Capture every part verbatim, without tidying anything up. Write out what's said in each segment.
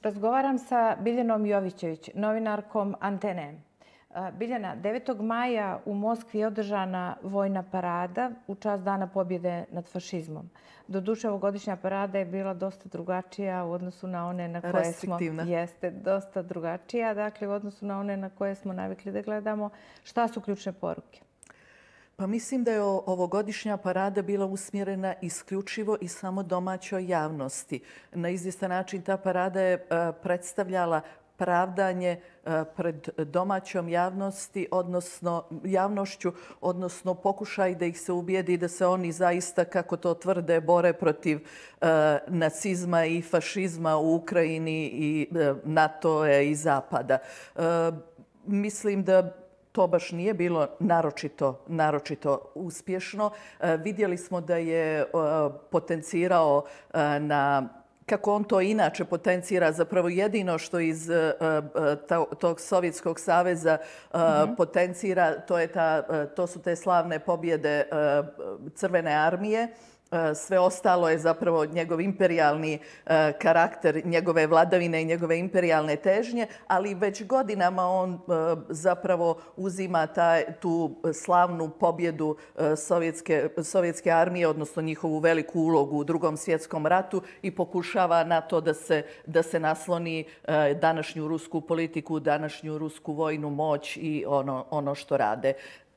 Razgovaram sa Biljanom Jovićević, novinarkom Antene. Biljana, devetog maja u Moskvi je održana vojna parada u čast Dana pobjede nad fašizmom. Doduše, ovogodišnja parada je bila dosta drugačija u odnosu na one na koje smo... Jeste, dosta drugačija, dakle, u odnosu na one na koje smo navikli da gledamo. Šta su ključne poruke? Pa mislim da je ovogodišnja parada bila usmjerena isključivo i samo domaćoj javnosti. Na izvjestan način ta parada je predstavljala pravdanje pred domaćom javnosti, odnosno javnošću, odnosno pokušaj da ih se ubijedi da se oni zaista, kako to tvrde, bore protiv nacizma i fašizma u Ukrajini i NATO i Zapada. Mislim da to baš nije bilo naročito, naročito uspješno. Vidjeli smo da je potencirao na, kako on to inače potencira, zapravo jedino što iz tog Sovjetskog saveza potencira, to, je ta, to su te slavne pobjede Crvene armije. Sve ostalo je zapravo njegov imperijalni karakter, njegove vladavine i njegove imperijalne težnje, ali već godinama on zapravo uzima taj, tu slavnu pobjedu sovjetske, sovjetske armije, odnosno njihovu veliku ulogu u Drugom svjetskom ratu i pokušava na to da se, da se nasloni današnju rusku politiku, današnju rusku vojnu moć i ono, ono što rade.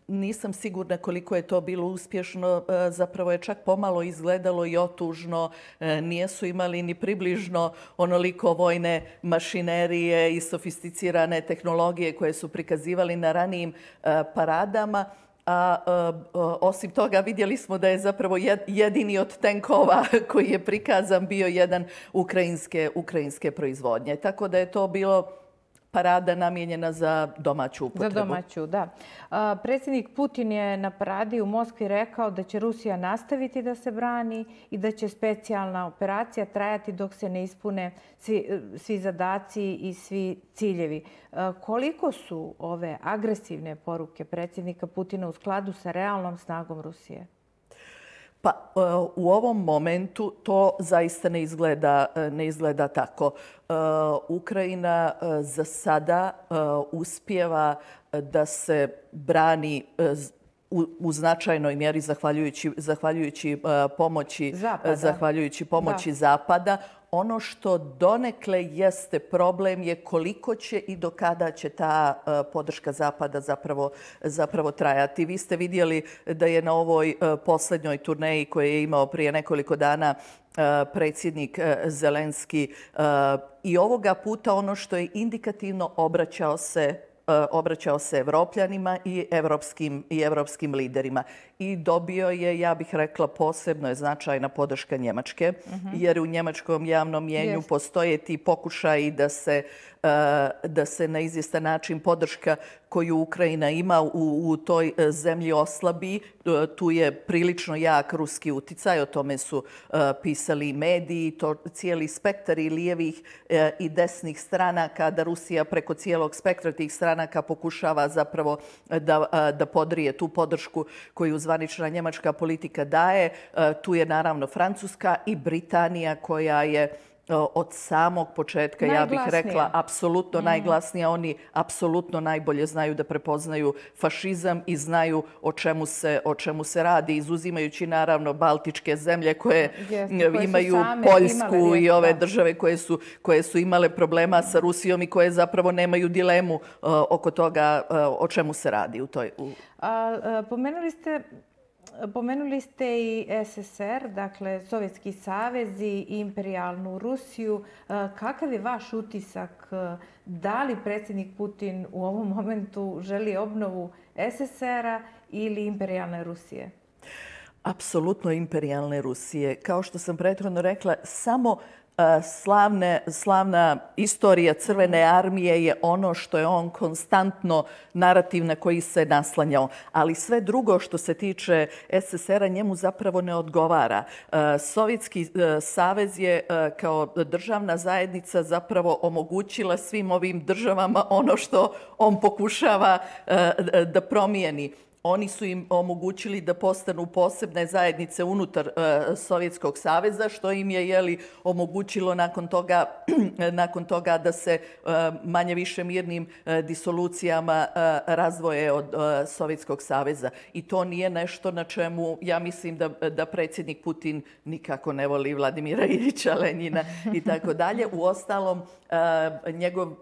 Nisam sigurna koliko je to bilo uspješno, zapravo je čak pomalo izgledalo i otužno. Nisu imali ni približno onoliko vojne mašinerije i sofisticirane tehnologije koje su prikazivali na ranijim paradama. A osim toga vidjeli smo da je zapravo jedini od tenkova koji je prikazan bio jedan ukrajinske, ukrajinske proizvodnje. Tako da je to bilo parada namijenjena za domaću upotrebu. Za domaću, da. Predsjednik Putin je na paradi u Moskvi rekao da će Rusija nastaviti da se brani i da će specijalna operacija trajati dok se ne ispune svi, svi zadaci i svi ciljevi. Koliko su ove agresivne poruke predsjednika Putina u skladu sa realnom snagom Rusije? Pa u ovom momentu to zaista ne izgleda, ne izgleda tako. Ukrajina za sada uspijeva da se brani u, u značajnoj mjeri zahvaljujući, zahvaljujući pomoći, Zapada. Zahvaljujući pomoći da. Zapada. Ono što donekle jeste problem je koliko će i do kada će ta podrška Zapada zapravo, zapravo trajati. Vi ste vidjeli da je na ovoj posljednjoj turneji koju je imao prije nekoliko dana predsjednik Zelenski i ovoga puta ono što je indikativno obraćao se obraćao se Evropljanima i evropskim, i evropskim liderima. I dobio je, ja bih rekla, posebno je značajna podrška Njemačke, uh-huh. jer u njemačkom javnom mjenju yes. postoje ti pokušaji da se, da se na izvjestan način podrška koju Ukrajina ima u, u toj zemlji oslabi. Tu je prilično jak ruski uticaj, o tome su pisali mediji, to cijeli spektar i lijevih i desnih stranaka, da Rusija preko cijelog spektra tih stranaka pokušava zapravo da, da podrije tu podršku koju zvanična njemačka politika daje. Tu je naravno Francuska i Britanija koja je od samog početka, ja bih rekla, apsolutno mm. najglasnija. Oni apsolutno najbolje znaju da prepoznaju fašizam i znaju o čemu se, o čemu se radi, izuzimajući naravno Baltičke zemlje koje, Jeste, koje imaju Poljsku imale, i ove da. države koje su, koje su imale problema sa Rusijom i koje zapravo nemaju dilemu uh, oko toga uh, o čemu se radi u toj... U... A, a, pomenuli ste Pomenuli ste i S S S R, dakle Sovjetski savez i imperijalnu Rusiju. Kakav je vaš utisak? Da li predsjednik Putin u ovom momentu želi obnovu S S S R-a ili imperijalne Rusije? Apsolutno imperijalne Rusije. Kao što sam prethodno rekla, samo Slavne, slavna istorija Crvene armije je ono što je on konstantno narativ na koji se naslanjao. Ali sve drugo što se tiče S S S R-a njemu zapravo ne odgovara. Sovjetski savez je kao državna zajednica zapravo omogućila svim ovim državama ono što on pokušava da promijeni. Oni su im omogućili da postanu posebne zajednice unutar uh, Sovjetskog saveza, što im je jeli, omogućilo nakon toga, nakon toga da se uh, manje više mirnim uh, disolucijama uh, razvoje od uh, Sovjetskog saveza. I to nije nešto na čemu ja mislim da, da predsjednik Putin nikako ne voli Vladimira Iljiča Lenjina i tako dalje. Uostalom, uh, njegov uh,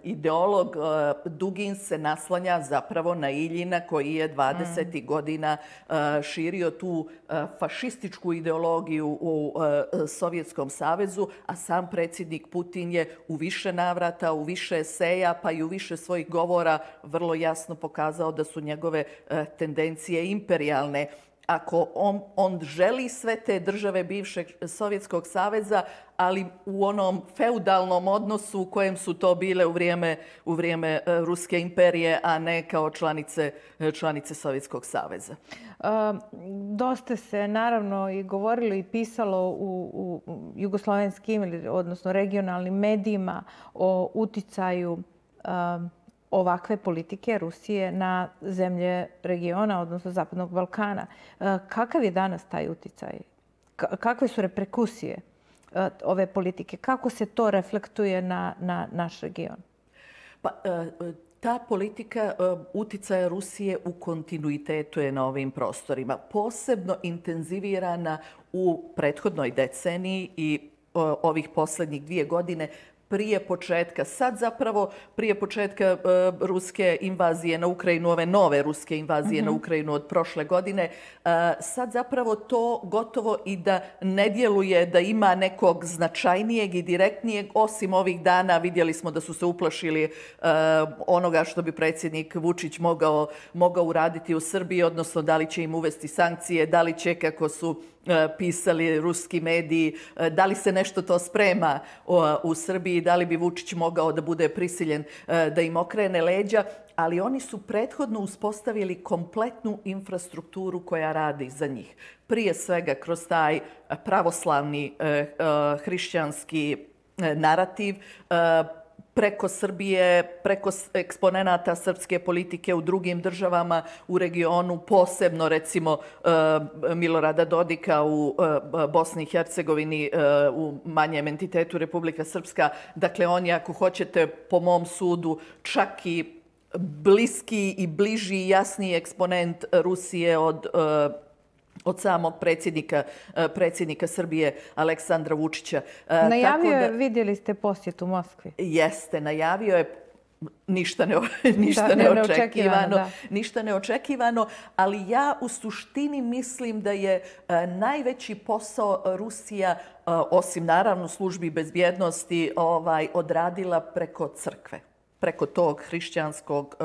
ideolog uh, Dugin se naslanja zapravo na Iljina koji je dvadesetih godina uh, širio tu uh, fašističku ideologiju u uh, Sovjetskom savezu, a sam predsjednik Putin je u više navrata, u više eseja, pa i u više svojih govora vrlo jasno pokazao da su njegove uh, tendencije imperijalne. Ako on, on želi sve te države bivšeg Sovjetskog saveza, ali u onom feudalnom odnosu u kojem su to bile u vrijeme, u vrijeme Ruske imperije, a ne kao članice, članice Sovjetskog saveza. E, dosta se naravno i govorilo i pisalo u, u jugoslovenskim, odnosno regionalnim medijima o uticaju e, ovakve politike Rusije na zemlje regiona, odnosno Zapadnog Balkana. Kakav je danas taj uticaj? Kakve su reperkusije ove politike? Kako se to reflektuje na, na naš region? Pa, ta politika uticaja Rusije u kontinuitetu je na ovim prostorima. Posebno intenzivirana u prethodnoj deceniji i ovih posljednjih dvije godine prije početka, sad zapravo prije početka uh, ruske invazije na Ukrajinu, ove nove ruske invazije mm-hmm. na Ukrajinu od prošle godine, uh, sad zapravo to gotovo i da ne djeluje da ima nekog značajnijeg i direktnijeg, osim ovih dana vidjeli smo da su se uplašili uh, onoga što bi predsjednik Vučić mogao, mogao uraditi u Srbiji, odnosno da li će im uvesti sankcije, da li će, kako su pisali ruski mediji, da li se nešto to sprema u Srbiji, da li bi Vučić mogao da bude prisiljen da im okrene leđa, ali oni su prethodno uspostavili kompletnu infrastrukturu koja radi za njih. Prije svega kroz taj pravoslavni hrišćanski narativ, preko Srbije, preko eksponenata srpske politike u drugim državama u regionu, posebno recimo Milorada Dodika u Bosni i Hercegovini, u manjem entitetu Republika Srpska. Dakle, on je, ako hoćete, po mom sudu, čak i bliski i bliži i jasniji eksponent Rusije od od samog predsjednika, predsjednika Srbije Aleksandra Vučića. Najavio je, da, vidjeli ste posjet u Moskvi. Jeste, najavio je ništa, ne, ništa da, neočekivano, neočekivano da. ništa neočekivano, ali ja u suštini mislim da je najveći posao Rusija, osim naravno službi bezbjednosti, ovaj, odradila preko crkve. Preko tog hrišćanskog,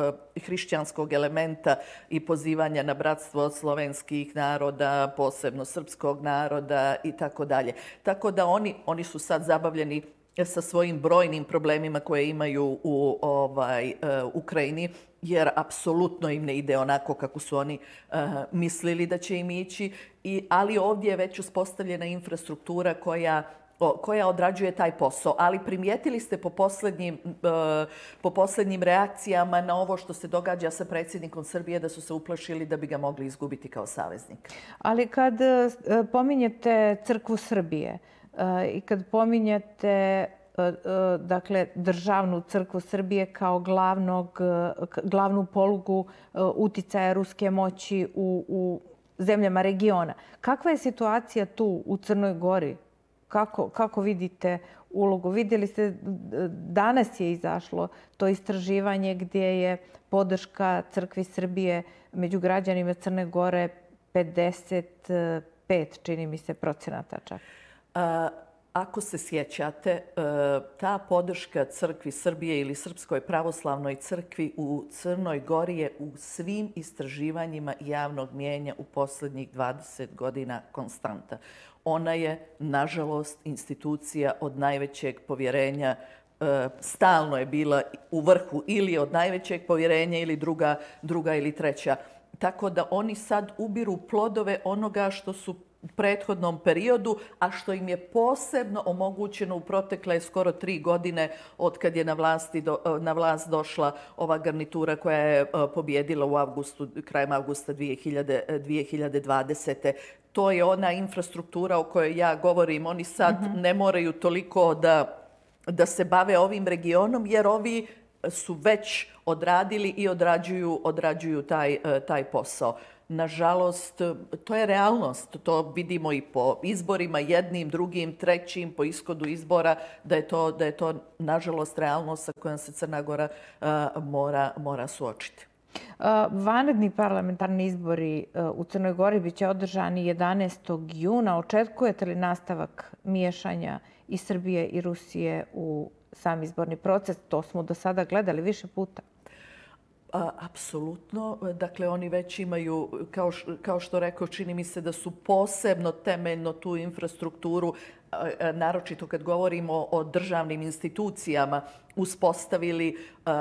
hrišćanskog elementa i pozivanja na bratstvo slovenskih naroda, posebno srpskog naroda i tako dalje. Tako da oni, oni su sad zabavljeni sa svojim brojnim problemima koje imaju u ovaj, uh, Ukrajini, jer apsolutno im ne ide onako kako su oni uh, mislili da će im ići, I, ali ovdje je već uspostavljena infrastruktura koja koja odrađuje taj posao. Ali primijetili ste po posljednjim, po posljednjim reakcijama na ovo što se događa sa predsjednikom Srbije da su se uplašili da bi ga mogli izgubiti kao saveznika. Ali kad pominjete crkvu Srbije i kad pominjete dakle, državnu crkvu Srbije kao glavnog, glavnu polugu uticaja ruske moći u, u zemljama regiona, kakva je situacija tu u Crnoj Gori? Kako, kako vidite ulogu? Vidjeli ste, danas je izašlo to istraživanje gdje je podrška crkvi Srbije među građanima Crne Gore pedeset pet, čini mi se, procenata čak. A, ako se sjećate, ta podrška crkvi Srbije ili Srpskoj pravoslavnoj crkvi u Crnoj Gori je u svim istraživanjima javnog mnijenja u posljednjih dvadeset godina konstanta. Ona je, nažalost, institucija od najvećeg povjerenja, stalno je bila u vrhu ili od najvećeg povjerenja ili druga, druga ili treća. Tako da oni sad ubiru plodove onoga što su prethodnom periodu, a što im je posebno omogućeno u protekle skoro tri godine od kad je na, vlasti do, na vlast došla ova garnitura koja je pobjedila u avgustu, krajem avgusta dvije hiljade dvadesete. To je ona infrastruktura o kojoj ja govorim. Oni sad mm-hmm. ne moraju toliko da, da se bave ovim regionom, jer ovi su već odradili i odrađuju, odrađuju taj, taj posao. Nažalost, to je realnost. To vidimo i po izborima, jednim, drugim, trećim, po ishodu izbora, da je to, da je to nažalost, realnost sa kojom se Crna Gora uh, mora, mora suočiti. Uh, vanredni parlamentarni izbori uh, u Crnoj Gori biće održani jedanaestog juna. Očekujete li nastavak miješanja i Srbije i Rusije u sam izborni proces? To smo do sada gledali više puta. Apsolutno. Dakle, oni već imaju, kao, kao što rekao, čini mi se da su posebno temeljno tu infrastrukturu, naročito kad govorimo o državnim institucijama, uspostavili uh,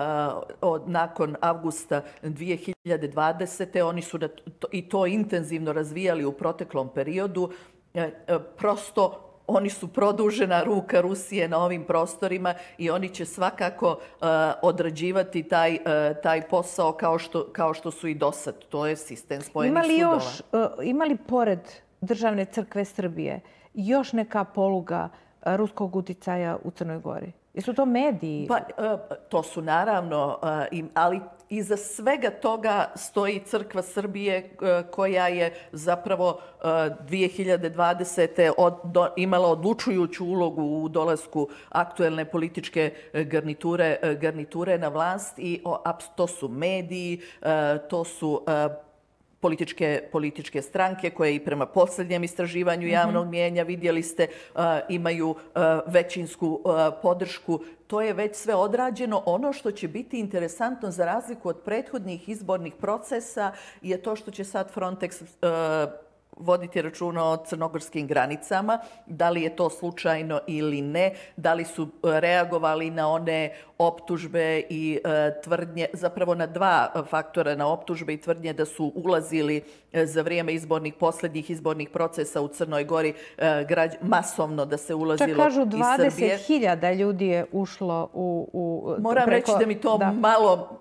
od, nakon avgusta dvije hiljade dvadesete. Oni su da, to, i to intenzivno razvijali u proteklom periodu. E, prosto oni su produžena ruka Rusije na ovim prostorima i oni će svakako uh, odrađivati taj, uh, taj posao kao što, kao što su i do sad. To je sistem spojenih ima li sudova. Još, uh, ima li pored Državne crkve Srbije još neka poluga uh, ruskog uticaja u Crnoj Gori? Jesu to mediji? Pa, uh, to su naravno, uh, ali iza svega toga stoji Crkva Srbije koja je zapravo dvije hiljade dvadesete. Od, do, imala odlučujuću ulogu u dolasku aktuelne političke garniture, garniture na vlast i o, to su mediji, to su Političke, političke stranke koje i prema posljednjem istraživanju javnog mnijenja, vidjeli ste, uh, imaju uh, većinsku uh, podršku. To je već sve odrađeno. Ono što će biti interesantno za razliku od prethodnih izbornih procesa je to što će sad Frontex uh, voditi računa o crnogorskim granicama, da li je to slučajno ili ne, da li su reagovali na one optužbe i e, tvrdnje, zapravo na dva faktora, na optužbe i tvrdnje da su ulazili e, za vrijeme izbornih, posljednjih izbornih procesa u Crnoj Gori e, građ, masovno da se ulazilo iz Srbije. Čak kažu dvadeset hiljada ljudi je ušlo u... u Moram preko, reći da mi to da. malo...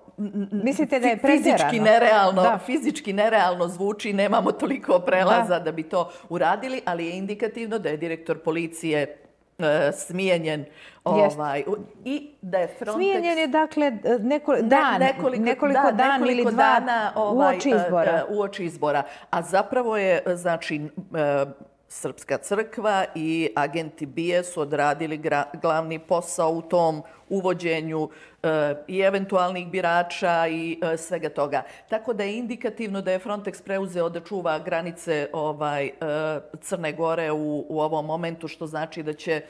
Mislite da je pretjerano? Fizički nerealno, da. fizički nerealno zvuči, nemamo toliko prelaza da. da bi to uradili, ali je indikativno da je direktor policije uh, smijenjen. Ovaj, i da je Frontex... Smijenjen je dakle neko, dan, ne, nekoliko, nekoliko da, dan nekoliko ili dva dana, ovaj, uoči izbora. Uh, uoči izbora. A zapravo je, znači, uh, Srpska crkva i agenti B I A su odradili gra, glavni posao u tom uvođenju e, i eventualnih birača i e, svega toga. Tako da je indikativno da je Frontex preuzeo da čuva granice ovaj, e, Crne Gore u, u ovom momentu, što znači da će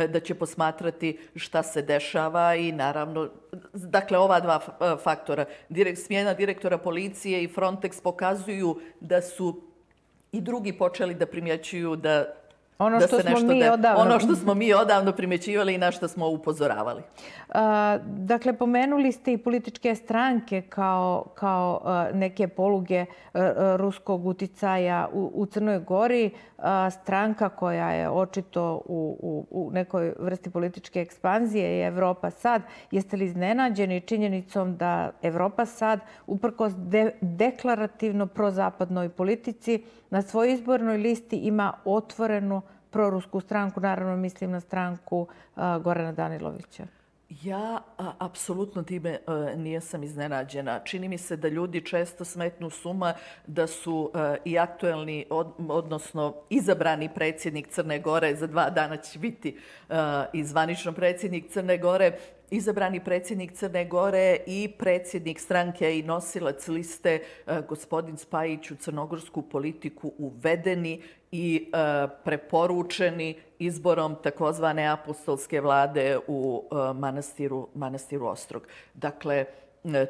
da će posmatrati šta se dešava i naravno, dakle, ova dva faktora, direkt, smjena direktora policije i Frontex pokazuju da su i drugi počeli da primjećuju da ono što, da se smo nešto mi de... odavno... ono što smo mi odavno primjećivali i na što smo upozoravali. A, dakle, pomenuli ste i političke stranke kao, kao a, neke poluge a, ruskog uticaja u, u Crnoj Gori. A, stranka koja je očito u, u, u nekoj vrsti političke ekspanzije je Evropa Sad. Jeste li iznenađeni činjenicom da Evropa Sad, uprkos de, deklarativno prozapadnoj politici, na svojoj izbornoj listi ima otvorenu prorusku stranku, naravno mislim na stranku uh, Gorana Danilovića? Ja a, apsolutno time a, nijesam iznenađena. Čini mi se da ljudi često smetnu s uma da su a, i aktuelni, od, odnosno izabrani predsjednik Crne Gore, za dva dana će biti a, i zvanično predsjednik Crne Gore, izabrani predsjednik Crne Gore i predsjednik stranke i nosilac liste gospodin Spajić u crnogorsku politiku uvedeni i preporučeni izborom takozvane apostolske vlade u manastiru, manastiru Ostrog. Dakle,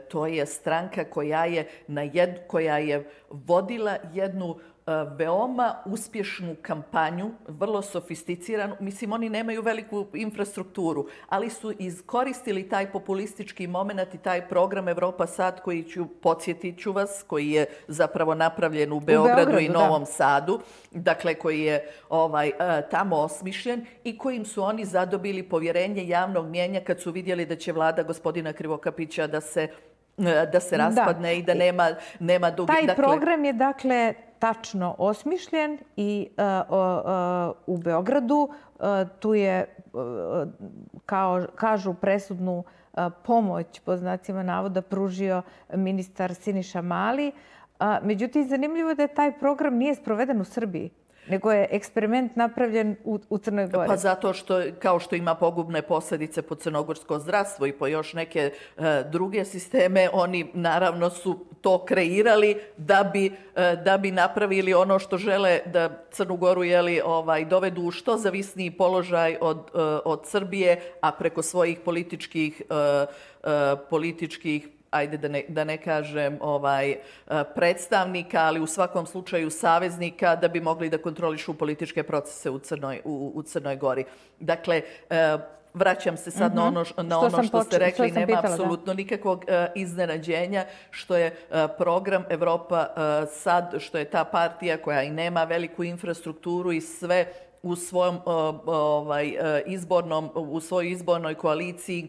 to je stranka koja je, na jed, koja je vodila jednu veoma uspješnu kampanju, vrlo sofisticiranu. Mislim, oni nemaju veliku infrastrukturu, ali su iskoristili taj populistički moment i taj program Evropa Sad, koji ću, podsjetit ću vas, koji je zapravo napravljen u Beogradu, u Beogradu i Novom da. Sadu, dakle koji je ovaj, tamo osmišljen i kojim su oni zadobili povjerenje javnog mnijenja kad su vidjeli da će vlada gospodina Krivokapića da se da se raspadne da. I da nema, nema dugi... Taj dakle, program je dakle tačno osmišljen i uh, uh, u Beogradu uh, tu je, uh, kao kažu, presudnu uh, pomoć, po znacima navoda, pružio ministar Siniša Mali. Uh, međutim, zanimljivo je da taj program nije sproveden u Srbiji, nego je eksperiment napravljen u, u Crnoj Gori. Pa zato što, kao što ima pogubne posljedice po crnogorsko zdravstvo i po još neke uh, druge sisteme, oni naravno su to kreirali da bi, uh, da bi napravili ono što žele, da Crnu Goru jeli, ovaj, dovedu u što zavisniji položaj od, uh, od Srbije, a preko svojih političkih, uh, uh, političkih ajde da ne, da ne kažem ovaj, predstavnika, ali u svakom slučaju saveznika, da bi mogli da kontrolišu političke procese u Crnoj, u, u Crnoj Gori. Dakle, vraćam se sad mm-hmm. na ono, na što, ono što ste rekli, nema pitala, apsolutno da. nikakvog uh, iznenađenja što je uh, program Evropa uh, Sad, što je ta partija koja i nema veliku infrastrukturu i sve u svojom ovaj, izbornom, u svojoj izbornoj koaliciji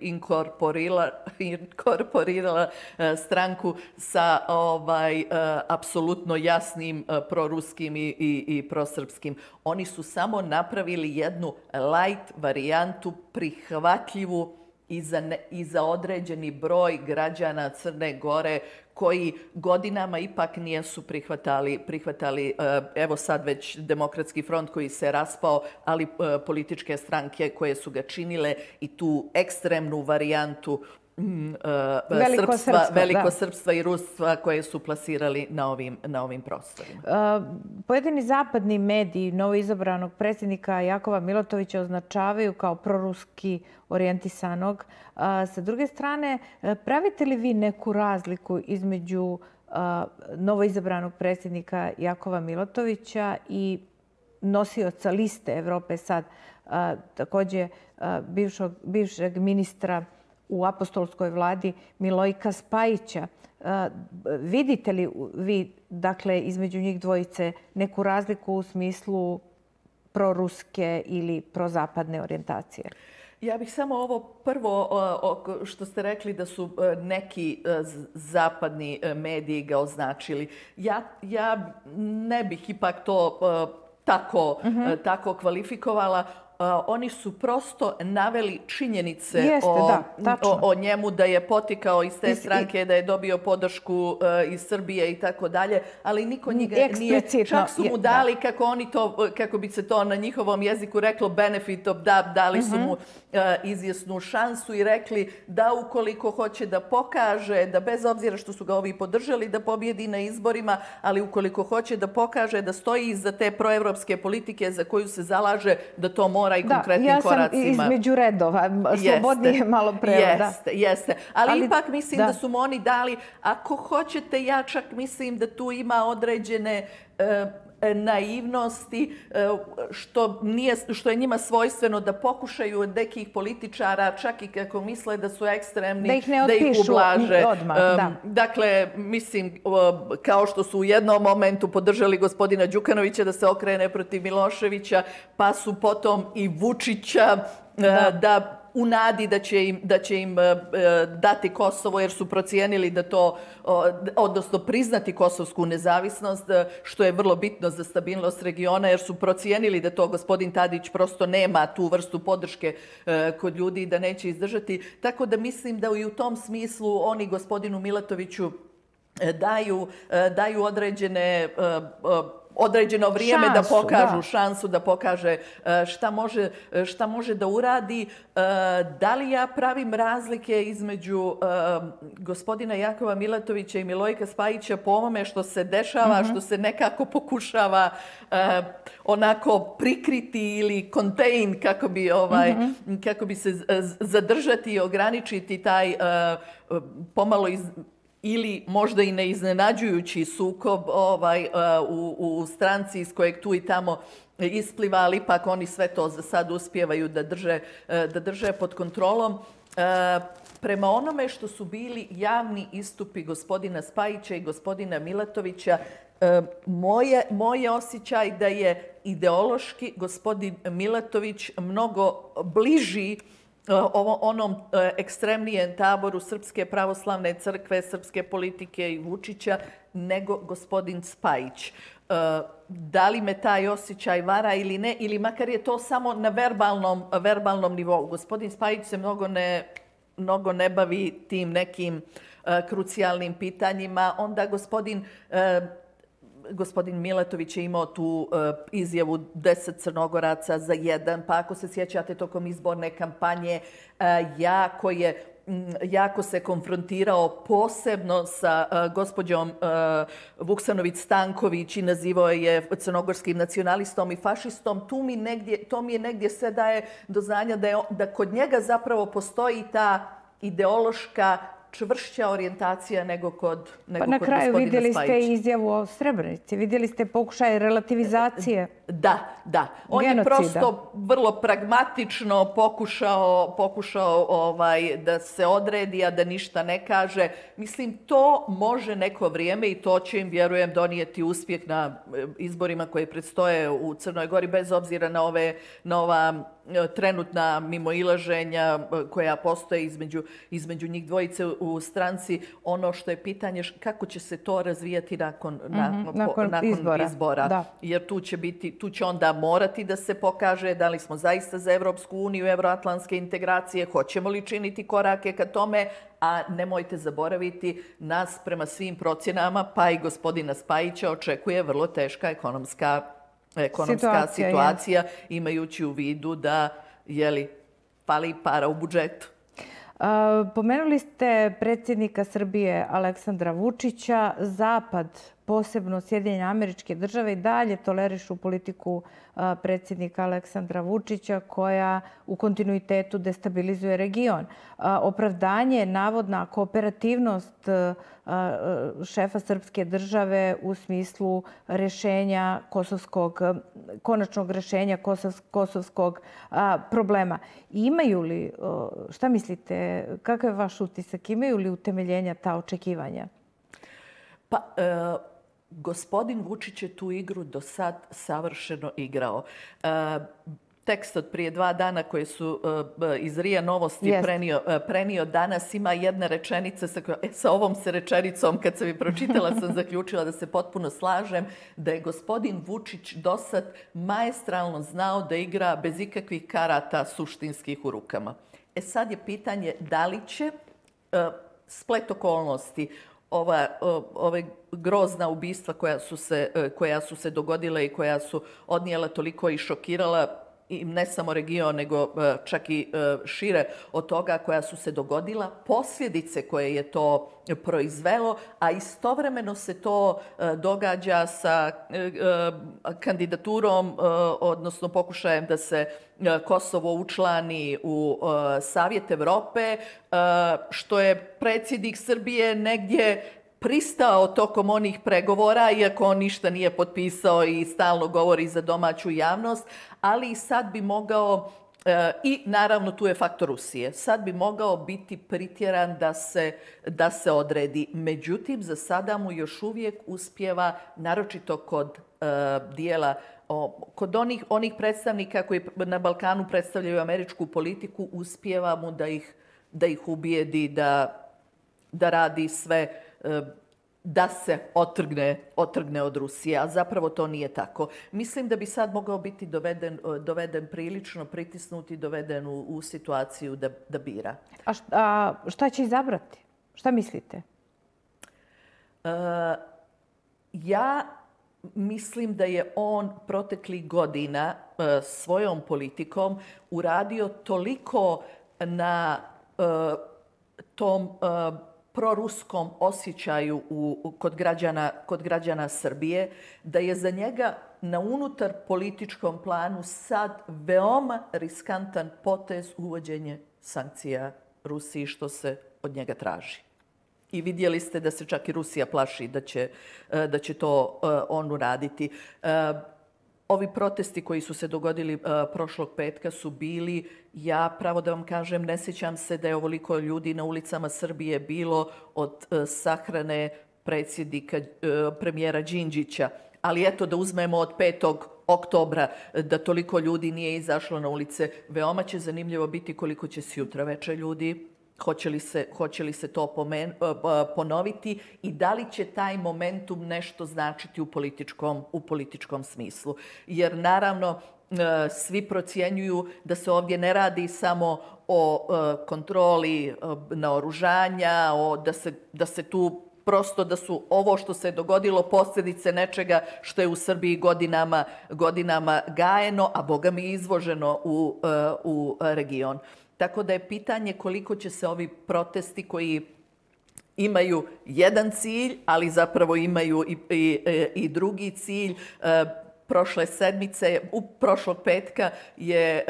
inkorporirala, inkorporirala stranku sa ovaj, apsolutno jasnim proruskim i, i, i prosrpskim. Oni su samo napravili jednu light varijantu, prihvatljivu i za, ne, i za određeni broj građana Crne Gore koji godinama ipak nisu prihvatali, prihvatali evo sad već Demokratski front koji se raspao, ali političke stranke koje su ga činile i tu ekstremnu varijantu Veliko srpstva, veliko srpstva i rustva koje su plasirali na ovim, na ovim prostorima. Uh, pojedini zapadni mediji novoizabranog predsjednika Jakova Milotovića označavaju kao proruski orijentisanog. Uh, sa druge strane, pravite li vi neku razliku između uh, novoizabranog predsjednika Jakova Milotovića i nosioca liste Evrope Sad, uh, također uh, bivšog, bivšeg ministra u apostolskoj vladi Milojka Spajića. Vidite li vi, dakle, između njih dvojice neku razliku u smislu proruske ili prozapadne orijentacije? Ja bih samo ovo prvo što ste rekli da su neki zapadni mediji ga označili. Ja, ja ne bih ipak to tako, uh-huh. tako kvalifikovala. Uh, oni su prosto naveli činjenice Jeste, o, da, o, o njemu da je potikao iz te stranke, da je dobio podršku uh, iz Srbije i tako dalje, ali niko njega nije, čak su mu dali, da. kako oni to, kako bi se to na njihovom jeziku reklo, benefit of doubt, dali su mu uh, izvjesnu šansu i rekli da ukoliko hoće da pokaže, da bez obzira što su ga ovi podržali da pobjedi na izborima, ali ukoliko hoće da pokaže da stoji iza te proevropske politike za koju se zalaže, da to mora i konkretnim da, koracima. Ja sam između redova, slobodnije malo prevod. Jeste, jeste. Ali, Ali ipak mislim da. da su mu oni dali, ako hoćete, ja čak mislim da tu ima određene uh, naivnosti, što, nije, što je njima svojstveno da pokušaju od nekih političara, čak i kako misle da su ekstremni, da ih ne da ih ublaže. Odmah, da. Dakle, mislim, kao što su u jednom momentu podržali gospodina Đukanovića da se okrene protiv Miloševića, pa su potom i Vučića da, da u nadi da će im, da će im dati Kosovo jer su procijenili da to, odnosno priznati kosovsku nezavisnost, što je vrlo bitno za stabilnost regiona, jer su procijenili da to gospodin Tadić prosto nema tu vrstu podrške kod ljudi i da neće izdržati. Tako da mislim da i u tom smislu oni gospodinu Milatoviću daju, daju određene određeno vrijeme šansu, da pokažu da. šansu, da pokaže šta može, šta može da uradi. Da li ja pravim razlike između gospodina Jakova Milatovića i Milojka Spajića po ovome što se dešava, mm-hmm. što se nekako pokušava onako prikriti ili contain, kako bi, ovaj, mm-hmm. kako bi se zadržati i ograničiti taj pomalo iz, ili možda i neiznenađujući sukob ovaj, u, u stranci iz kojeg tu i tamo ispliva, ali ipak oni sve to za sad uspijevaju da drže, da drže pod kontrolom. Prema onome što su bili javni istupi gospodina Spajića i gospodina Milatovića, moje, moje osjećaj da je ideološki gospodin Milatović mnogo bliži onom ekstremnijem taboru Srpske pravoslavne crkve, srpske politike i Vučića nego gospodin Spajić. Da li me taj osjećaj vara ili ne, ili makar je to samo na verbalnom, verbalnom nivou. Gospodin Spajić se mnogo ne, mnogo ne bavi tim nekim krucijalnim pitanjima. Onda gospodin Gospodin Milatović je imao tu uh, izjavu deset Crnogoraca za jedan, pa ako se sjećate tokom izborne kampanje, uh, jako je m, jako se konfrontirao posebno sa uh, gospođom uh, Vuksanović-Stanković i nazivao je crnogorskim nacionalistom i fašistom. Tu mi negdje, to mi je negdje sve daje do znanja da, je, da kod njega zapravo postoji ta ideološka čvršća orijentacija nego kod, nego pa na kod kraju gospodina vidjeli Spajića. ste izjavu o Srebrenici, vidjeli ste pokušaj relativizacije. Da, da. On genocida. je prosto vrlo pragmatično pokušao, pokušao ovaj, da se odredi, a da ništa ne kaže. Mislim, to može neko vrijeme i to će im, vjerujem, donijeti uspjeh na izborima koje predstoje u Crnoj Gori, bez obzira na, ove, na ova trenutna mimoilaženja koja postoje između, između njih dvojice u stranci. Ono što je pitanje kako će se to razvijati nakon, Mm-hmm, nakon, nakon, nakon izbora. izbora. Da. Jer tu će, biti, tu će onda morati da se pokaže da li smo zaista za Evropsku uniju, evroatlantske integracije, hoćemo li činiti korake ka tome, a nemojte zaboraviti, nas prema svim procjenama, pa i gospodina Spajića, očekuje vrlo teška ekonomska ekonomska situacija, situacija imajući u vidu da jeli, fali para u budžetu. A, pomenuli ste predsjednika Srbije Aleksandra Vučića. Zapad, posebno Sjedinjene Američke Države, i dalje tolerišu politiku a, predsjednika Aleksandra Vučića koja u kontinuitetu destabilizuje region. A, opravdanje, navodna kooperativnost a, a, šefa srpske države u smislu rješenja kosovskog, konačnog rješenja kosov, kosovskog a, problema. Imaju li, a, šta mislite, kakav je vaš utisak, imaju li utemeljenja ta očekivanja? Pa, e, gospodin Vučić je tu igru do sad savršeno igrao. E, tekst od prije dva dana koje su uh, iz Rija Novosti prenio, uh, prenio danas ima jedna rečenica sa, e, sa ovom se rečenicom kad sam je pročitala sam zaključila da se potpuno slažem da je gospodin Vučić do sad maestralno znao da igra bez ikakvih karata suštinskih u rukama. E sad je pitanje da li će uh, splet okolnosti, ova, uh, ove grozna ubistva koja su, se, uh, koja su se dogodila i koja su odnijela toliko i šokirala i ne samo region, nego čak i šire od toga koja su se dogodila, posljedice koje je to proizvelo, a istovremeno se to događa sa kandidaturom, odnosno pokušajem da se Kosovo učlani u Savjet Evrope, što je predsjednik Srbije negdje pristao tokom onih pregovora, iako on ništa nije potpisao i stalno govori za domaću javnost, ali i sad bi mogao, i naravno tu je faktor Rusije, sad bi mogao biti pritjeran da se, da se odredi. Međutim, za sada mu još uvijek uspijeva, naročito kod uh, dijela, o, kod onih, onih predstavnika koji na Balkanu predstavljaju američku politiku, uspijeva mu da ih, da ih ubijedi, da, da radi sve da se otrgne, otrgne od Rusije, a zapravo to nije tako. Mislim da bi sad mogao biti doveden, doveden prilično, pritisnut i doveden u, u situaciju da, da bira. A šta, a šta će izabrati? Šta mislite? Uh, ja mislim da je on proteklih godina uh, svojom politikom uradio toliko na uh, tom uh, proruskom osjećaju u, kod, građana, kod građana Srbije, da je za njega na unutar političkom planu sad veoma riskantan potez uvođenje sankcija Rusiji što se od njega traži. I vidjeli ste da se čak i Rusija plaši da će, da će to on uraditi. Ovi protesti koji su se dogodili uh, prošlog petka su bili, ja pravo da vam kažem, ne sjećam se da je ovoliko ljudi na ulicama Srbije bilo od uh, sahrane predsjednika, uh, premijera Đinđića. Ali eto da uzmemo od petog oktobra da toliko ljudi nije izašlo na ulice. Veoma će zanimljivo biti koliko će sutra večer ljudi. Hoće li se, hoće li se to pomen, ponoviti i da li će taj momentum nešto značiti u političkom, u političkom smislu. Jer naravno svi procjenjuju da se ovdje ne radi samo o kontroli naoružanja, o, da, se, da se tu prosto da su ovo što se dogodilo posljedice nečega što je u Srbiji godinama, godinama gajeno, a boga mi izvoženo u, u region. Tako da je pitanje koliko će se ovi protesti koji imaju jedan cilj, ali zapravo imaju i, i, i drugi cilj. Prošle sedmice, u prošlog petka je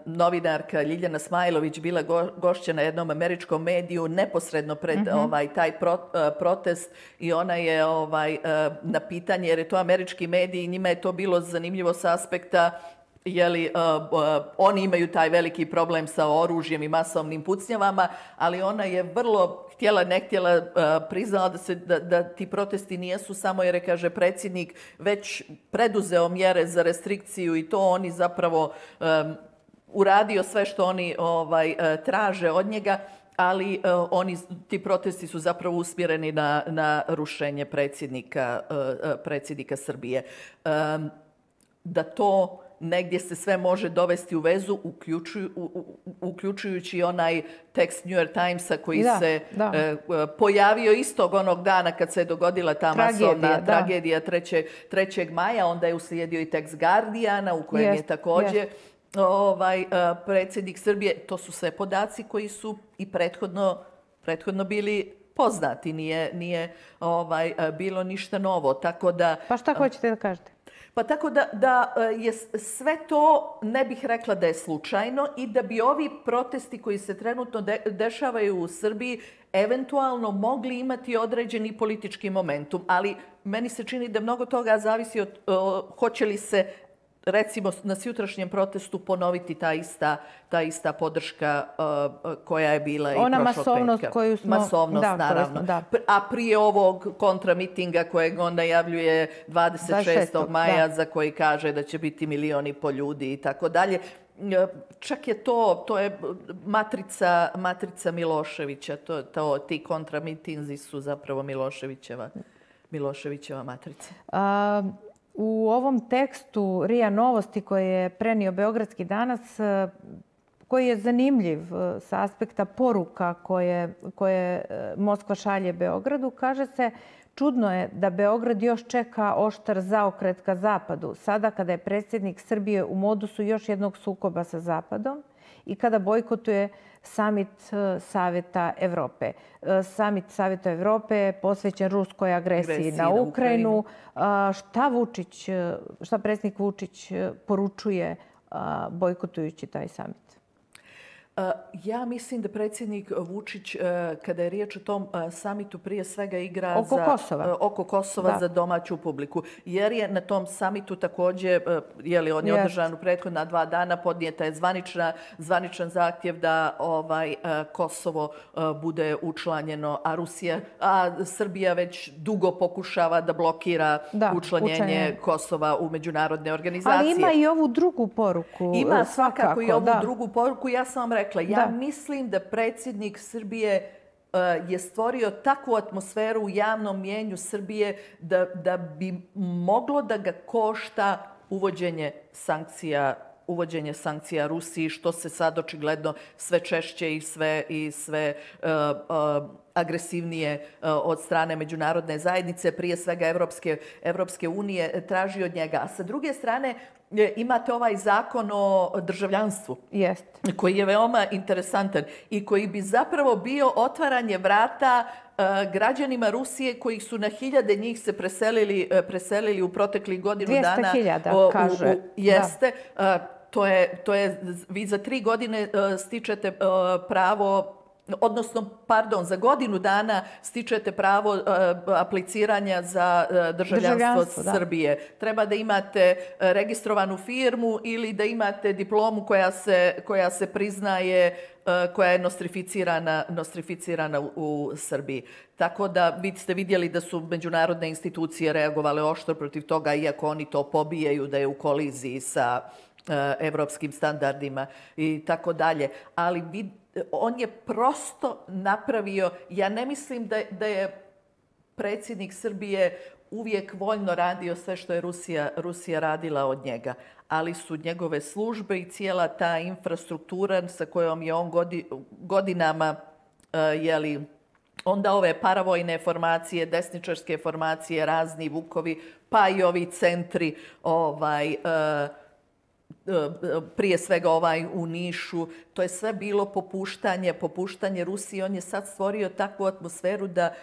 novinarka Ljiljana Smajlović bila gošća na jednom američkom mediju neposredno pred mm-hmm. ovaj, taj pro, protest i ona je ovaj, na pitanje, jer je to američki medij i njima je to bilo zanimljivo s aspekta Jeli, uh, uh, oni imaju taj veliki problem sa oružjem i masovnim pucnjavama, ali ona je vrlo htjela, ne htjela, uh, priznala da, se, da, da ti protesti nijesu samo jer je, kaže predsjednik, već preduzeo mjere za restrikciju i to oni zapravo um, uradio sve što oni ovaj, uh, traže od njega, ali uh, oni, ti protesti su zapravo usmjereni na, na rušenje predsjednika, uh, uh, predsjednika Srbije. Um, da to negdje se sve može dovesti u vezu, uključuju, u, uključujući onaj tekst New York Timesa koji da, se da. E, pojavio istog onog dana kad se je dogodila ta tragedija, masovna da. tragedija trećeg maja. Onda je uslijedio i tekst Guardiana u kojem jest, je također jest. Ovaj, predsjednik Srbije. To su sve podaci koji su i prethodno, prethodno bili poznati. Nije, nije ovaj, bilo ništa novo. Tako da, pa šta hoćete da kažete? Pa tako da, da je sve to, ne bih rekla da je slučajno i da bi ovi protesti koji se trenutno de, dešavaju u Srbiji eventualno mogli imati određeni politički momentum. Ali meni se čini da mnogo toga zavisi od uh, hoće li se recimo na sutrašnjem protestu ponoviti ta ista, ta ista podrška uh, koja je bila i ona prošlog masovnost petka. Koju smo, masovnost, da, naravno. Smo, da. A prije ovog kontramitinga kojeg on najavljuje dvadeset šestog maja da. Za koji kaže da će biti milioni po ljudi i tako dalje. Čak je to, to je matrica, matrica Miloševića. To, to, ti kontramitinzi su zapravo Miloševićeva, Miloševićeva matrica. A... U ovom tekstu R I A Novosti koje je prenio Beogradski danas, koji je zanimljiv sa aspekta poruka koje, koje Moskva šalje Beogradu, kaže se čudno je da Beograd još čeka oštar zaokret ka Zapadu, sada kada je predsjednik Srbije u modusu još jednog sukoba sa Zapadom i kada bojkotuje Samit Saveta Evrope. Samit Saveta Evrope je posvećen ruskoj agresiji, agresiji na Ukrajinu. Ukrajinu. Šta Vučić, šta predsjednik Vučić poručuje bojkotujući taj samit? Ja mislim da predsjednik Vučić, kada je riječ o tom samitu, prije svega igra oko za, Kosova, oko Kosova za domaću publiku. Jer je na tom samitu također, je li on je održan u prethodna dva dana, podnijeta je zvanična, zvaničan zahtjev da ovaj Kosovo bude učlanjeno, a Rusija, a Srbija već dugo pokušava da blokira da, učlanjenje učanje. Kosova u međunarodne organizacije. Ali ima i ovu drugu poruku. Ima svakako i ovu da. drugu poruku. Ja sam vam rekla, ja da. mislim da predsjednik Srbije uh, je stvorio takvu atmosferu u javnom mjenju Srbije da, da bi moglo da ga košta uvođenje sankcija, uvođenje sankcija Rusiji, što se sad očigledno sve češće i sve, i sve uh, uh, agresivnije uh, od strane međunarodne zajednice, prije svega Evropske, Evropske unije, traži od njega. A sa druge strane, imate ovaj zakon o državljanstvu, Jest. koji je veoma interesantan i koji bi zapravo bio otvaranje vrata uh, građanima Rusije koji su na hiljade njih se preselili, uh, preselili u proteklih godinu dana. dvjesto hiljada, kaže. U, u, jeste. Uh, to je, to je, vi za tri godine uh, stičete uh, pravo odnosno, pardon, za godinu dana stičete pravo uh, apliciranja za uh, državljanstvo Srbije. Da. Treba da imate uh, registrovanu firmu ili da imate diplomu koja se, koja se priznaje, uh, koja je nostrificirana, nostrificirana u, u Srbiji. Tako da vi ste vidjeli da su međunarodne institucije reagovale oštro protiv toga, iako oni to pobijaju da je u koliziji sa uh, evropskim standardima i tako dalje. Ali vi on je prosto napravio, ja ne mislim da, da je predsjednik Srbije uvijek voljno radio sve što je Rusija, Rusija radila od njega, ali su njegove službe i cijela ta infrastruktura sa kojom je on godi, godinama, uh, jeli, onda ove paravojne formacije, desničarske formacije, razni Vukovi, pa i ovi centri, ovaj, uh, prije svega ovaj u Nišu, to je sve bilo popuštanje, popuštanje Rusiji. On je sad stvorio takvu atmosferu da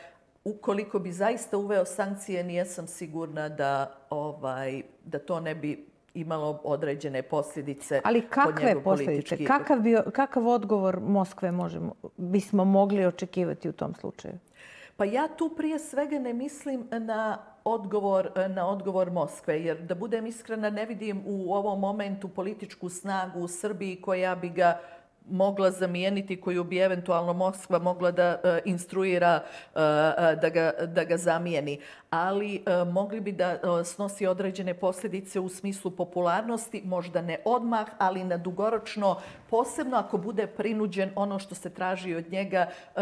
ukoliko bi zaista uveo sankcije, nijesam sigurna da, ovaj, da to ne bi imalo određene posljedice. Ali kakve posljedice? Kakav, bio, kakav odgovor Moskve možemo, bismo mogli očekivati u tom slučaju? Pa ja tu prije svega ne mislim na odgovor, na odgovor Moskve, jer da budem iskrena ne vidim u ovom momentu političku snagu u Srbiji koja bi ga mogla zamijeniti, koju bi eventualno Moskva mogla da uh, instruira uh, da, ga, da ga zamijeni. Ali uh, mogli bi da uh, snosi određene posljedice u smislu popularnosti, možda ne odmah, ali na dugoročno, posebno ako bude prinuđen ono što se traži od njega, uh,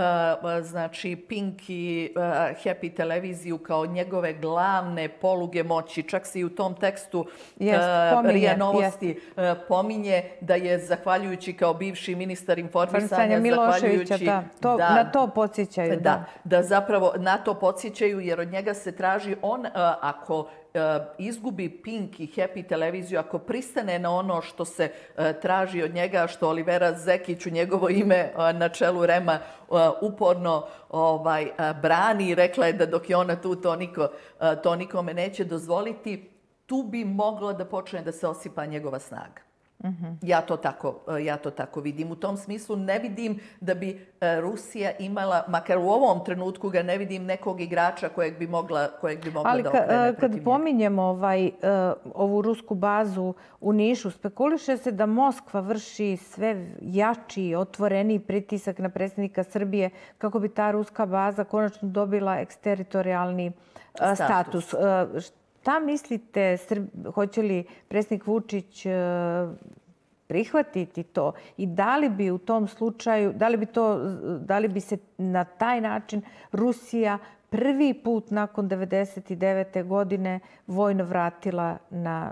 znači Pink i uh, Happy televiziju kao njegove glavne poluge moći. Čak se i u tom tekstu jest, pominje, Rija Novosti uh, pominje da je zahvaljujući kao bivši ministar informisanja, zahvaljujući... Da, to, da, na to podsjećaju. Da, da, da zapravo na to podsjećaju jer od njega se traži on, uh, ako uh, izgubi Pink i Happy televiziju, ako pristane na ono što se uh, traži od njega, što Olivera Zekić u njegovo ime uh, na čelu Rema uh, uporno ovaj, uh, brani i rekla je da dok je ona tu, to, niko, uh, to nikome neće dozvoliti, tu bi moglo da počne da se osipa njegova snaga. Mm-hmm. Ja to tako, ja to tako vidim. U tom smislu ne vidim da bi Rusija imala, makar u ovom trenutku ga ne vidim nekog igrača kojeg bi mogla, kojeg bi mogla ali da okrene Ali kad pominjemo ovaj, ovu rusku bazu u Nišu, spekuliše se da Moskva vrši sve jači, otvoreni pritisak na predsjednika Srbije kako bi ta ruska baza konačno dobila eksteritorijalni status. status. Šta mislite, hoće li predsjednik Vučić prihvatiti to i da li bi u tom slučaju, da li bi, to, da li bi se na taj način Rusija prvi put nakon devedeset devete godine vojno vratila na,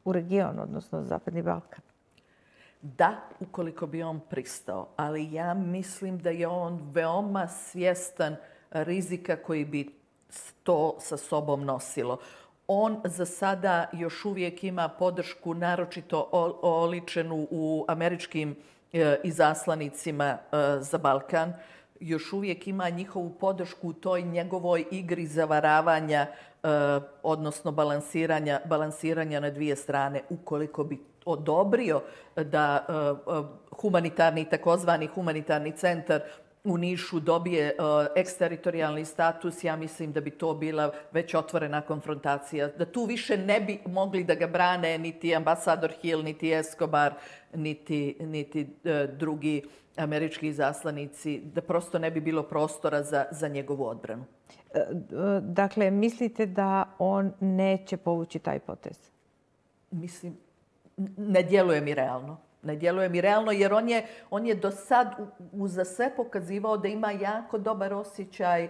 u region, odnosno Zapadni Balkan? Da, ukoliko bi on pristao, ali ja mislim da je on veoma svjestan rizika koji bi to sa sobom nosilo. On za sada još uvijek ima podršku naročito oličenu u američkim izaslanicima za Balkan. Još uvijek ima njihovu podršku u toj njegovoj igri zavaravanja, odnosno balansiranja, balansiranja na dvije strane. Ukoliko bi odobrio da humanitarni, takozvani humanitarni centar u Nišu dobije uh, eksteritorijalni status, ja mislim da bi to bila već otvorena konfrontacija. Da tu više ne bi mogli da ga brane niti ambasador Hill, niti Escobar, niti, niti uh, drugi američki izaslanici, da prosto ne bi bilo prostora za, za njegovu odbranu. Dakle, mislite da on neće povući taj potez? Mislim, ne djeluje mi realno. Ne djeluje mi realno jer on je, on je do sad uza sve pokazivao da ima jako dobar osjećaj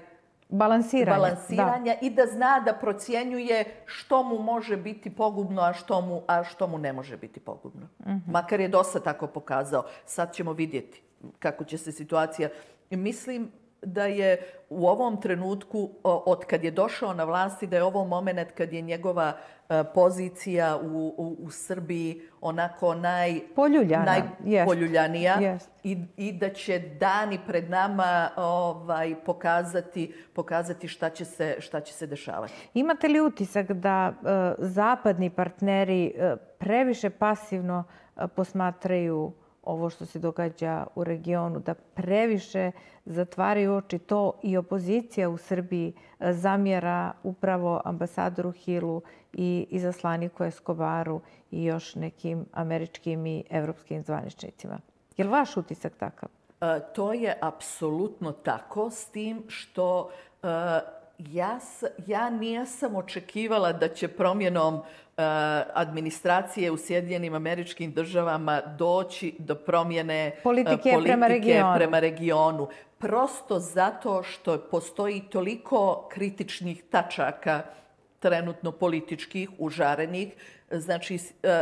balansiranja, balansiranja da. I da zna da procjenjuje što mu može biti pogubno, a što mu, a što mu ne može biti pogubno. Mm-hmm. Makar je dosta tako pokazao. Sad ćemo vidjeti kako će se situacija... Mislim da je u ovom trenutku, od kad je došao na vlasti, da je ovo moment kad je njegova pozicija u, u, u Srbiji onako naj, najpoljuljanija yes. I, i da će dani pred nama ovaj, pokazati, pokazati šta će se, šta će se dešavati. Imate li utisak da uh, zapadni partneri uh, previše pasivno uh, posmatraju ovo što se događa u regionu, da previše zatvaraju oči. To i opozicija u Srbiji zamjera upravo ambasadoru Hillu i izaslaniku Escobaru i još nekim američkim i evropskim zvaničnicima. Je li vaš utisak takav? To je apsolutno tako, s tim što ja, ja nisam očekivala da će promjenom administracije u Sjedinjenim Američkim Državama doći do promjene politike, politike prema, regionu. prema regionu. Prosto zato što postoji toliko kritičnih tačaka trenutno političkih, užarenih. Znači,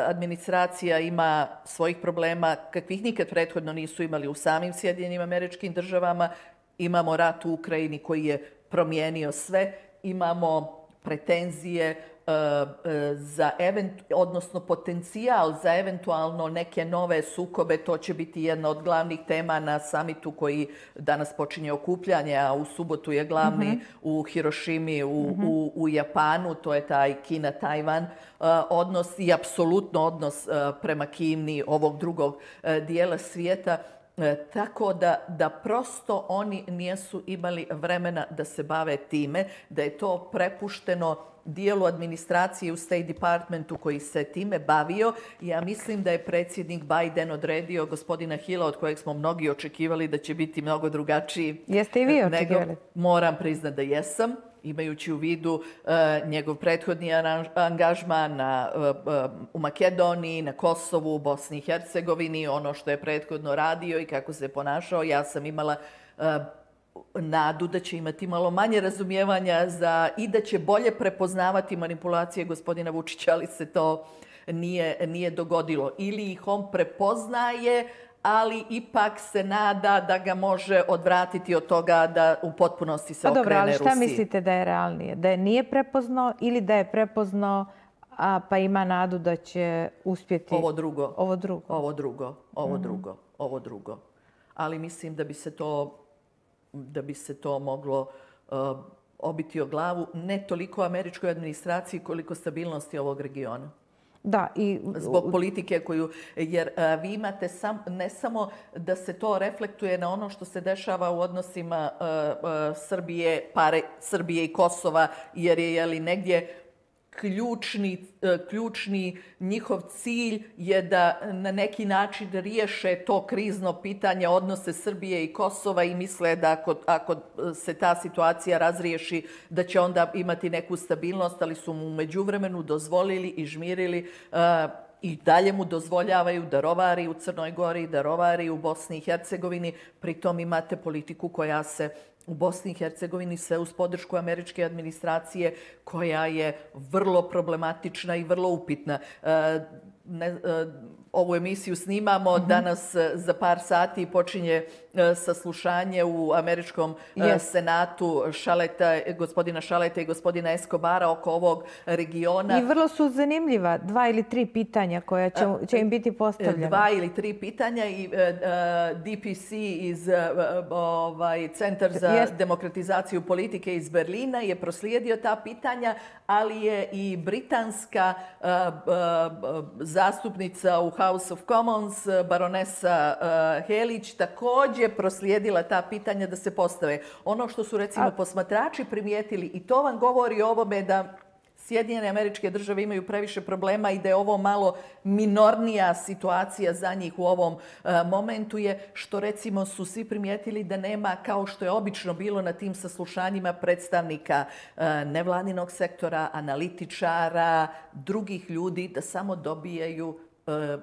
administracija ima svojih problema kakvih nikad prethodno nisu imali u samim Sjedinjenim Američkim Državama. Imamo rat u Ukrajini koji je promijenio sve. Imamo pretenzije za odnosno potencijal za eventualno neke nove sukobe. To će biti jedna od glavnih tema na samitu koji danas počinje okupljanje, a u subotu je glavni mm-hmm. u Hirošimi u, mm-hmm. u, u Japanu. To je taj Kina-Tajvan odnos i apsolutno odnos prema Kini ovog drugog dijela svijeta. Tako da, da prosto oni nisu imali vremena da se bave time, da je to prepušteno dijelu administracije u State Departmentu koji se time bavio. Ja mislim da je predsjednik Biden odredio gospodina Hilla, od kojeg smo mnogi očekivali da će biti mnogo drugačiji. Jeste i vi očekivali? Nego, moram priznati da jesam, imajući u vidu uh, njegov prethodni angažman na, uh, uh, u Makedoniji, na Kosovu, u Bosni i Hercegovini, ono što je prethodno radio i kako se ponašao. Ja sam imala uh, nadu da će imati malo manje razumijevanja za, i da će bolje prepoznavati manipulacije gospodina Vučića, ali se to nije, nije dogodilo. Ili ih on prepoznaje, ali ipak se nada da ga može odvratiti od toga da u potpunosti se okrene Rusiji. Pa dobro, ali šta Rusiji. Mislite da je realnije? Da je nije prepoznao ili da je prepoznao, a pa ima nadu da će uspjeti? Ovo drugo. Ovo drugo. Ovo drugo. Ovo mm-hmm. drugo. Ovo drugo. Ali mislim da bi se to, da bi se to moglo uh, obiti o glavu ne toliko američkoj administraciji koliko stabilnosti ovog regiona. Da, i zbog politike koju, jer uh, vi imate sam, ne samo da se to reflektuje na ono što se dešava u odnosima uh, uh, Srbije, pare Srbije i Kosova, jer je jeli, negdje ključni, uh, ključni njihov cilj je da na neki način riješe to krizno pitanje odnose Srbije i Kosova i misle da ako, ako se ta situacija razriješi da će onda imati neku stabilnost, ali su mu u međuvremenu dozvolili i žmirili uh, i dalje mu dozvoljavaju da rovari u Crnoj Gori, da rovari u Bosni i Hercegovini. Pritom imate politiku koja se u Bosni i Hercegovini sve uz podršku američke administracije koja je vrlo problematična i vrlo upitna. E, ne, e, ovu emisiju snimamo, mm-hmm. danas za par sati počinje e, saslušanje u američkom e, yes. senatu Šaleta, gospodina Šaleta i gospodina Escobara oko ovog regiona. I vrlo su zanimljiva dva ili tri pitanja koja će, će im biti postavljena. Dva ili tri pitanja i uh, D P C iz uh, ovaj, Centar za yes. demokratizaciju politike iz Berlina je proslijedio ta pitanja, ali je i britanska uh, uh, zastupnica u House of Commons, baronesa uh, Helić, također proslijedila ta pitanja da se postave. Ono što su recimo A... posmatrači primijetili, i to vam govori o ovome da Sjedinjene Američke Države imaju previše problema i da je ovo malo minornija situacija za njih u ovom uh, momentu je što recimo su svi primijetili da nema, kao što je obično bilo na tim saslušanjima, predstavnika uh, nevladinog sektora, analitičara, drugih ljudi, da samo dobijaju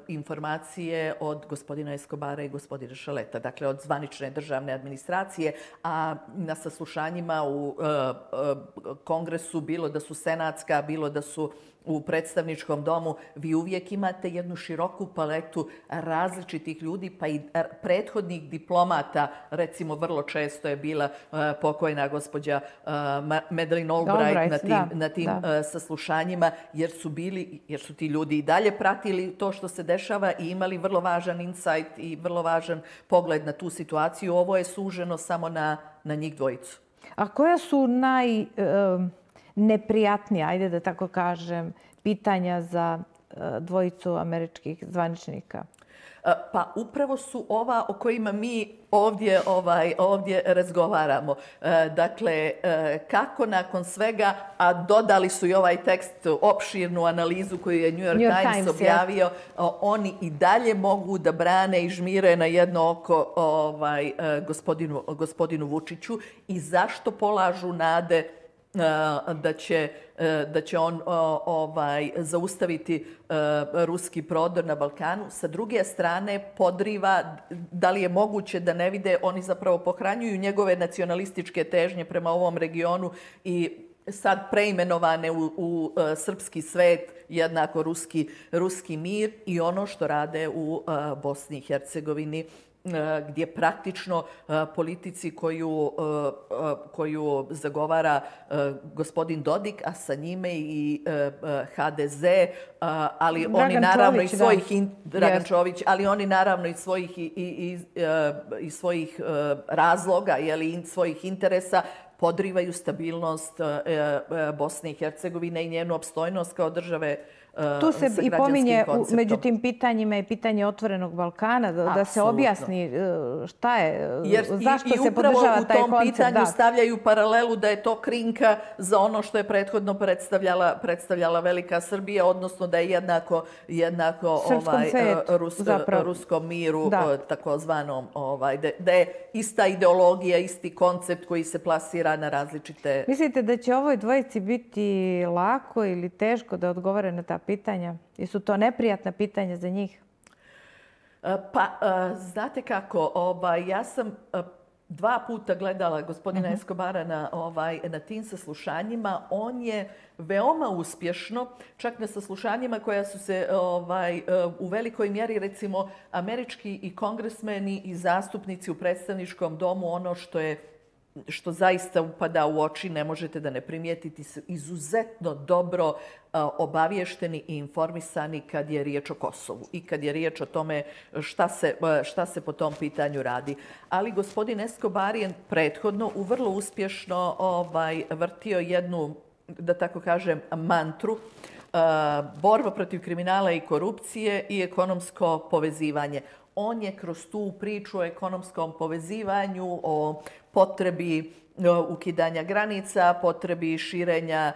informacije od gospodina Escobara i gospodina Šaleta, dakle od zvanične državne administracije, a na saslušanjima u uh, uh, kongresu, bilo da su senatska, bilo da su u predstavničkom domu, vi uvijek imate jednu široku paletu različitih ljudi, pa i prethodnih diplomata. Recimo, vrlo često je bila uh, pokojna gospođa uh, Madeleine Albright, Albright na tim, da, na tim uh, saslušanjima, jer su bili, jer su ti ljudi i dalje pratili to što se dešava i imali vrlo važan insight i vrlo važan pogled na tu situaciju. Ovo je suženo samo na, na njih dvojicu. A koja su naj... Uh... neprijatnija, ajde da tako kažem, pitanja za dvojicu američkih zvaničnika? Pa upravo su ova o kojima mi ovdje, ovaj, ovdje razgovaramo. Dakle, kako nakon svega, a dodali su i ovaj tekst, opširnu analizu koju je New York, New York Times, Times objavio, ja. Oni i dalje mogu da brane i žmire na jedno oko ovaj, gospodinu, gospodinu Vučiću i zašto polažu nade da će, da će on ovaj, zaustaviti ruski prodor na Balkanu. Sa druge strane, podriva, da li je moguće da ne vide, oni zapravo pohranjuju njegove nacionalističke težnje prema ovom regionu i sad preimenovane u, u srpski svet, jednako ruski, ruski mir i ono što rade u Bosni i Hercegovini, gdje praktično politici koju, koju zagovara gospodin Dodik, a sa njime i ha de ze, ali Dragan oni naravno Čović, i svojih in, Dragan yes. Čović, ali oni naravno i svojih i, i, i svojih razloga, jeli, i svojih interesa podrivaju stabilnost Bosne i Hercegovine i njenu opstojnost kao države. Tu se i pominje među tim pitanjima i pitanje otvorenog Balkana, da, da se objasni šta je, Jer zašto i, i se podržava taj koncept. I upravo u tom pitanju da. stavljaju paralelu da je to krinka za ono što je prethodno predstavljala, predstavljala Velika Srbija, odnosno da je jednako, jednako ovaj, svetu, Rus, ruskom miru, da. takozvanom, ovaj, da, da je ista ideologija, isti koncept koji se plasira na različite... Mislite da će ovoj dvojici biti lako ili teško da odgovore na ta pitanja? Jesu to neprijatna pitanja za njih? Pa, znate kako, ovaj, ja sam dva puta gledala gospodina uh-huh. Escobara na, ovaj, na tim saslušanjima. On je veoma uspješno, čak na saslušanjima koja su se ovaj, u velikoj mjeri, recimo, američki i kongresmeni i zastupnici u predstavničkom domu, ono što je što zaista upada u oči, ne možete da ne primijetiti, su izuzetno dobro obavješteni i informisani kad je riječ o Kosovu i kad je riječ o tome šta se, šta se po tom pitanju radi. Ali gospodin Escobar je prethodno u vrlo uspješno ovaj, vrtio jednu, da tako kažem, mantru, borba protiv kriminala i korupcije i ekonomsko povezivanje. On je kroz tu priču o ekonomskom povezivanju, o potrebi ukidanja granica, potrebi širenja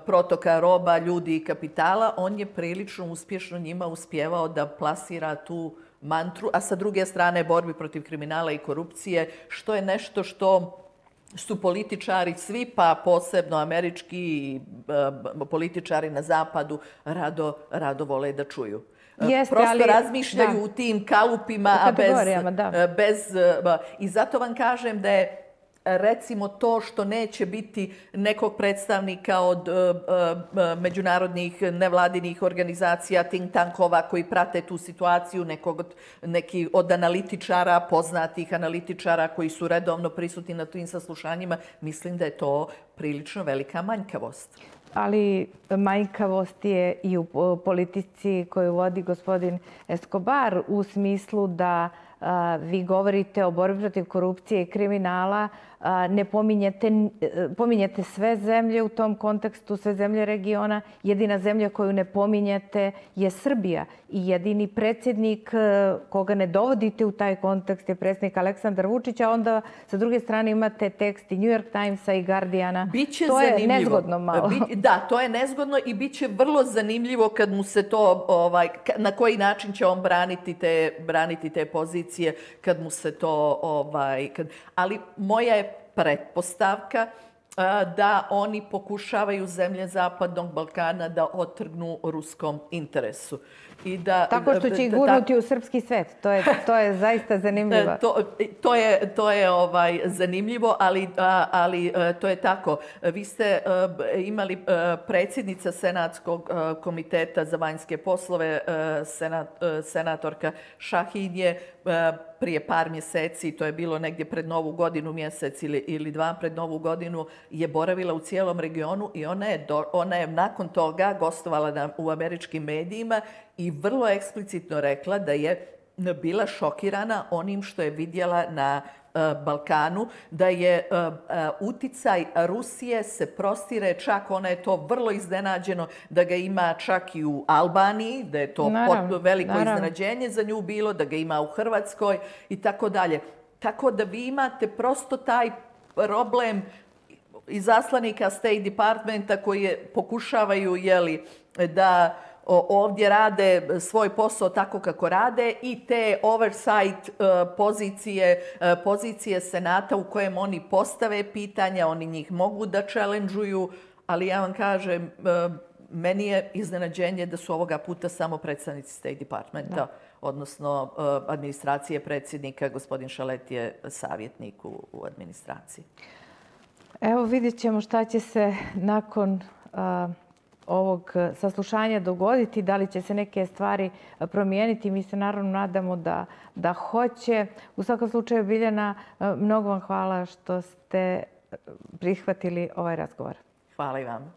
protoka roba, ljudi i kapitala, on je prilično uspješno njima uspjevao da plasira tu mantru, a sa druge strane borbi protiv kriminala i korupcije, što je nešto što su političari svi, pa posebno američki političari na zapadu, rado, rado vole da čuju. Jeste, Prosto ali, razmišljaju da. u tim kalupima, a bez, bez... I zato vam kažem da je recimo to što neće biti nekog predstavnika od uh, uh, međunarodnih nevladinih organizacija, think tankova koji prate tu situaciju, nekog od, neki od analitičara, poznatih analitičara koji su redovno prisutni na tim saslušanjima, mislim da je to prilično velika manjkavost. Ali manjkavost je i u politici koju vodi gospodin Escobar u smislu da a, vi govorite o borbi protiv korupcije i kriminala, a, ne pominjete, pominjete sve zemlje u tom kontekstu, sve zemlje regiona. Jedina zemlja koju ne pominjete je Srbija i jedini predsjednik koga ne dovodite u taj kontekst je predsjednik Aleksandar Vučić, a onda sa druge strane imate tekst i New York Timesa i Guardiana. Biće to zanimljivo. je nezgodno malo. Bi, da, to je nezgodno i bit će vrlo zanimljivo kad mu se to, ovaj, na koji način će on braniti te, braniti te pozicije, kad mu se to... Ovaj, kad, ali moja je pretpostavka da oni pokušavaju zemlje Zapadnog Balkana da otrgnu ruskom interesu. I da, Tako što će ih gurnuti u srpski svet. To je, to je zaista zanimljivo. To, to je, to je ovaj, zanimljivo, ali, ali to je tako. Vi ste imali predsjednica Senatskog komiteta za vanjske poslove, senat, senatorka Šahin je prije par mjeseci, to je bilo negdje pred Novu godinu, mjesec ili, ili dva pred Novu godinu, je boravila u cijelom regionu i ona je, do, ona je nakon toga gostovala na, u američkim medijima i vrlo eksplicitno rekla da je bila šokirana onim što je vidjela na Balkanu, da je uticaj Rusije se prostire, čak ona je to vrlo iznenađeno da ga ima čak i u Albaniji, da je to naravno, veliko naravno. iznenađenje za nju bilo, da ga ima u Hrvatskoj i tako dalje. Tako da vi imate prosto taj problem izaslanika State Departmenta koji pokušavaju jeli, da ovdje rade svoj posao tako kako rade i te oversight pozicije, pozicije Senata u kojem oni postave pitanja, oni njih mogu da challenge-uju, ali ja vam kažem, meni je iznenađenje da su ovoga puta samo predstavnici State Departmenta, da. odnosno administracije predsjednika, gospodin Šalet je savjetnik u, u administraciji. Evo vidjet ćemo šta će se nakon a, ovog saslušanja dogoditi, da li će se neke stvari promijeniti. Mi se naravno nadamo da, da hoće. U svakom slučaju, Biljana, mnogo vam hvala što ste prihvatili ovaj razgovor. Hvala i vam.